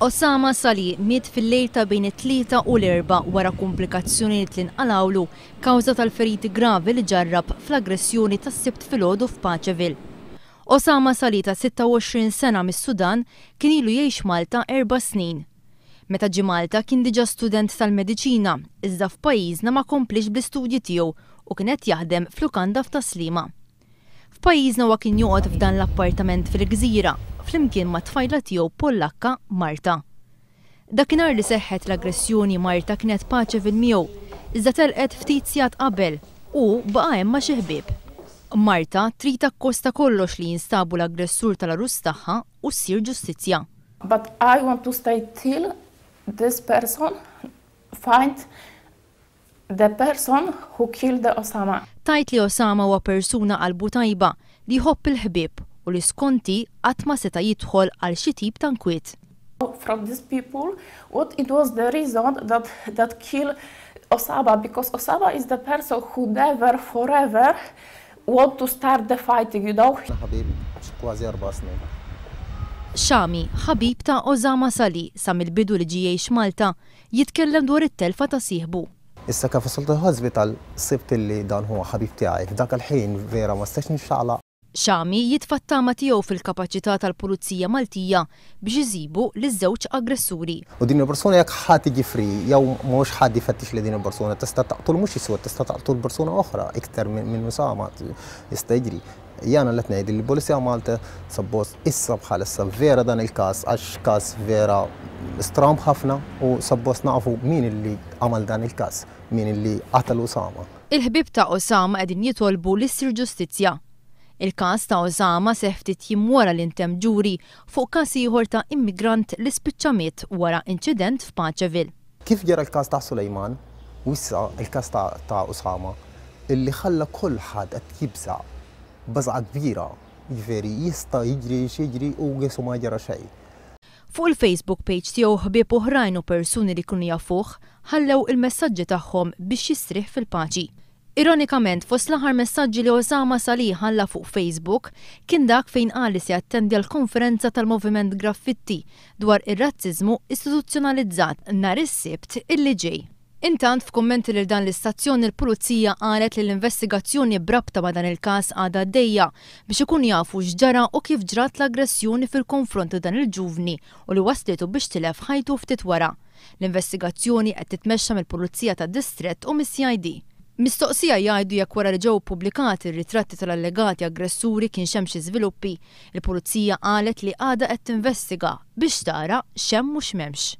Osama Salih miet fil-lejl ta' bejn it-Tlieta u l-Erbgħa wara kumplikazzjonijiet li nqalgħulu kawża tal-feriti gravi li ġarrab fl-aggressjoni tas-Sibt filgħodu f'Paceville. Osama Salih ta' 26 sena mis-Sudan kien ilu jgħix Malta 4 snin. Meta ġie Malta kien diġà student tal-mediċina, iżda f'pajjiżna ma komplix bl-istudji tiegħu u kien qed jaħdem f'lukanda f'Tas-Sliema. F'pajjiżna huwa kien joqgħod f'dan l-appartament fil-Gżira flimkien mat-tfajla tiegħu Pollakka, Marta. Dakinhar li seħħet l-aggressjoni, Marta kienet Paceville miegħu, iżda telqet ftit sigħat qabel u baqa' hemm ma' xi ħbieb. Marta trid akkost ta' kollox li jinstabu l-aggressur tal-għarus tagħha u ssir ġustizzja. But I want to stay till this person find the person who killed the Osama. Tgħid li Osama huwa persuna qalbu tajba li jħobb il-ħbieb u li skont hi qatt ma seta' jidħol għal xi tip ta' nkwiet. From these people, what it was the reason that kill Osama, because Osama is the person who never forever want to start the fighting. ħabib kważi 4 snin. Xami, ħabib ta' Osama Salih sa mill-bidu li ġie jgħix Malta, jitkellem dwar it-telfa ta' sieħbu. Issa kif wasalt il-hospital sibt li dan huwa ħabib tiegħi. F'dak il-ħin vera ma stax nixxaqla. Xami jitfa' t-tama tiegħu fil-kapaċità tal-Pulizija Maltija biex isibu liż-żewġ aggressuri. U din il-persuna jekk ħa tiġi free jew mhux ħadd jfettix li din il-persuna tista' taqtul mhux iswed, tista' taqtul persuna oħra iktar minn Osama jista' jiġri. Jiena qed ngħid li l-Pulizija Malta suppost issa bħalissa vera dan il-każ, għax każ vera stramb ħafna, u suppost nafu min illi għamal dan il-każ, min illi qatel Osama. Il-ħbib ta' Osama qegħdin jitolbu li ssir ġustizzja. Il-każ ta' Osama seħħ ftit jiem wara li ntemm ġuri fuq każ ieħor ta' immigrant li spiċċa miet wara inċident f'Paceville. Kif ġara l-każ ta' Sulejman u issa il-każ ta' Osama illi ħalla kulħadd qed jibża' baża kbira, jiġifieri jista' jiġri x'jiġri u qisu ma ġara xejn. Fuq il-Facebook page tiegħu, ħbieb oħrajn u persuni li kienu jafuh ħallew il-messaġġi tagħhom biex jistrieħ fil-paċi. Ironikament, fost l-aħħar messaġġi li Osama Salih ħalla fuq Facebook kien dak fejn qal li se jattendi għal konferenza tal-Moviment Graffitti dwar ir-razziżmu istituzzjonalizzat nhar is-Sibt illi ġej. Intant, f'kummenti lil dan l-istazzjon, il-Pulizija qalet li l-investigazzjoni b'rabta ma' dan il-każ għadha għaddejja biex ikun jafu x'ġara u kif ġrat l-aggressjoni fil-konfront ta' dan il-ġuvni u li waslitu biex tilef ħajtu ftit wara. L-investigazzjoni qed titmexxa mill-Pulizija tad-Distrett u mis-CID. Mistoqsija jgħidu jekk wara li ġew pubblikati r-ritratti tal-allegati aggressuri kienx hemm xi żviluppi, il-Pulizija qalet li għadha qed tinvestiga biex tara x'hemm u x'm'hemmx.